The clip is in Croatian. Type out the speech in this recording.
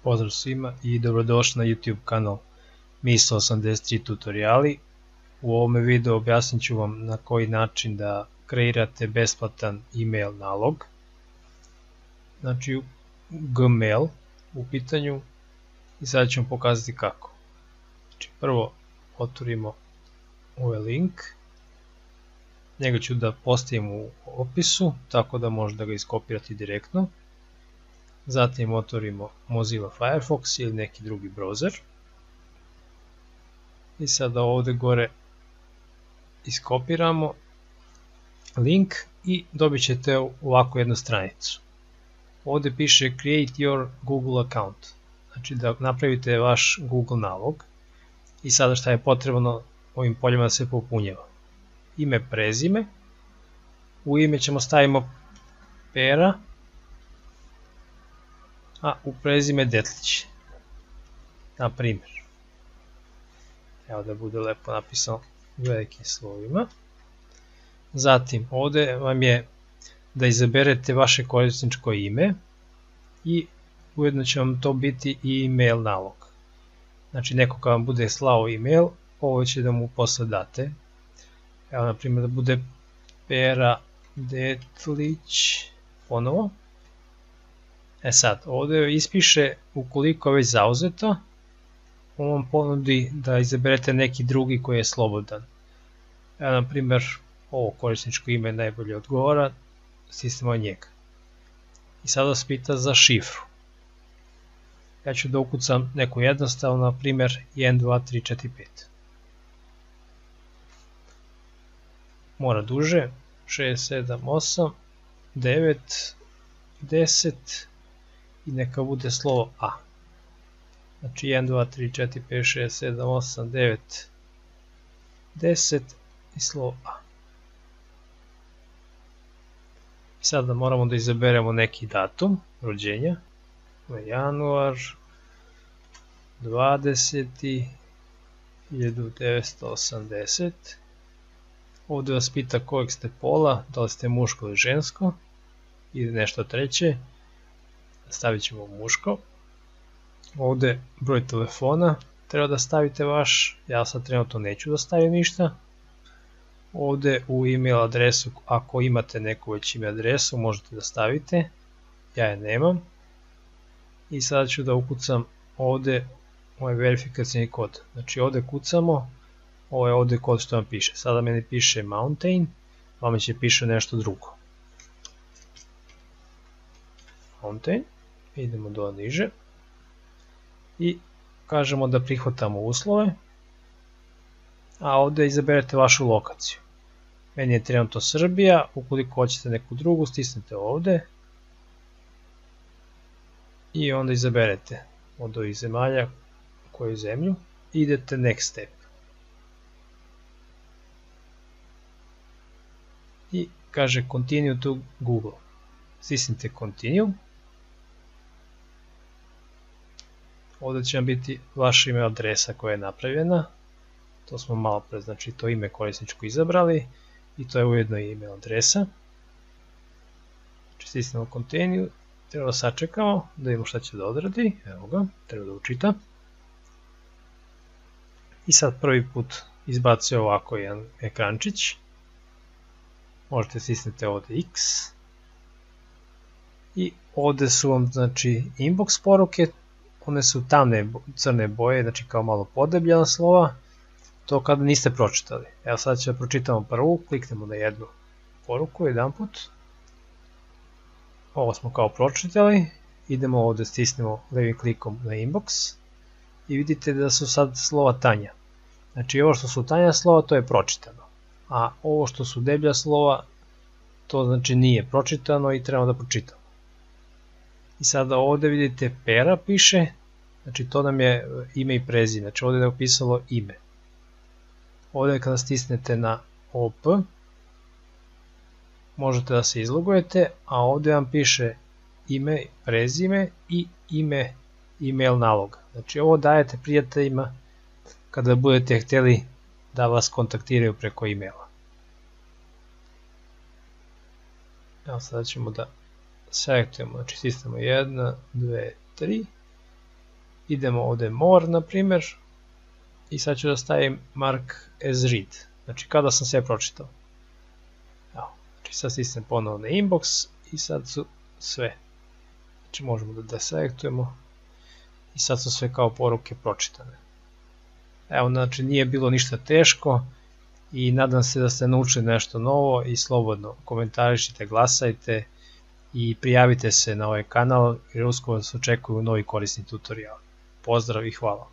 Pozdrav svima i dobrodošli na YouTube kanal MIS83 tutoriali. U ovome videu objasnit ću vam na koji način da kreirate besplatan email nalog. Znači Gmail u pitanju i sad ću vam pokazati kako. Znači, prvo otvorimo ovaj link. Njega ću da postavim u opisu tako da možete ga iskopirati direktno. Zatim otvorimo Mozilla Firefox ili neki drugi browser. I sada ovdje gore iskopiramo link i dobit ćete ovakvu jednu stranicu. Ovdje piše Create your Google account. Znači da napravite vaš Google nalog. I sada šta je potrebno ovim poljima da se popunjava. Ime, prezime. U ime ćemo stavimo Pera, a u prezime Detlić, na primjer. Evo da bude lepo napisano velikim slovima. Zatim ovdje vam je da izaberete vaše korisničko ime i ujedno će vam to biti i email nalog. Znači neko kad vam bude slao email, ovo će da mu posle date. Evo na primjer da bude Pera Detlić ponovo. Sad, ovdje ispiše ukoliko je već zauzeto, on vam ponudi da izaberete neki drugi koji je slobodan. Evo, na primjer, ovo korisničko ime najbolje odgovara, stisnemo njega. I sada vas pita za šifru. Ja ću da ukucam neku jednostavnu, na primjer 1, 2, 3, 4, 5. Mora duže, 6, 7, 8, 9, 10, i neka bude slovo A. Znači 1, 2, 3, 4, 5, 6, 7, 8, 9, 10 i slovo A. I sada moramo da izaberemo neki datum rođenja. Januar 20. 1980. Ovdje vas pita kojeg ste pola, da li ste muško ili žensko ili nešto treće. Stavit ćemo muško. Ovdje broj telefona treba da stavite vaš, ja sad trenutno neću da stavim ništa. Ovdje u email adresu, ako imate neku već email adresu, možete da stavite, ja je nemam. I sada ću da ukucam ovdje ovaj verifikacijni kod. Znači ovdje kucamo, ovo je ovdje kod što vam piše. Sada meni piše Mountain, vama će piše nešto drugo. Mountain. Idemo do niže i kažemo da prihvatamo uslove, a ovdje izaberete vašu lokaciju. Meni je trenutno Srbija, ukoliko hoćete neku drugu stisnete ovdje i onda izaberete od ovih zemalja koju zemlju i idete next step. I kaže continue to Google. Stisnite continue. Ovdje će vam biti vaša email adresa koja je napravljena. To smo malo pre, znači to ime korisničko izabrali i to je ujedno i email adresa. Znači stisnemo continue, treba da sačekamo da vidimo šta će da odradi. Evo ga, treba da učita. I sad prvi put izbacuje ovako jedan ekrančić. Možete stisnete ovdje X. I ovdje su vam znači inbox poruke. One su tamne crne boje, znači kao malo podebljena slova, to kada niste pročitali. Evo sad ćemo pročitamo prvu, kliknemo na jednu poruku jedan put. Ovo smo kao pročitali, idemo ovdje, stisnemo levim klikom na inbox i vidite da su sad slova tanja. Znači ovo što su tanja slova to je pročitano, a ovo što su deblja slova to znači nije pročitano i trebamo da pročitamo. I sada ovdje vidite Pera piše, znači to nam je ime i prezime, znači ovdje je upisalo ime. Ovdje kada stisnete na OP, možete da se izlogujete, a ovdje vam piše ime, prezime i ime email naloga. Znači ovo dajete prijateljima kada budete htjeli da vas kontaktiraju preko emaila. Evo sada ćemo da selektujemo, znači stisnemo 1, 2, 3 idemo ovdje more, na primjer, i sad ću da stavim mark as read, znači kada sam sve pročitao. Evo, znači sad stisnem ponovno na inbox i sad su sve. Znači možemo da deselektujemo i sad su sve kao poruke pročitane. Evo, znači nije bilo ništa teško i nadam se da ste naučili nešto novo i slobodno komentarišite, glasajte i prijavite se na ovaj kanal jer uskoro vas očekuju novi korisni tutorial. Pozdrav i hvala!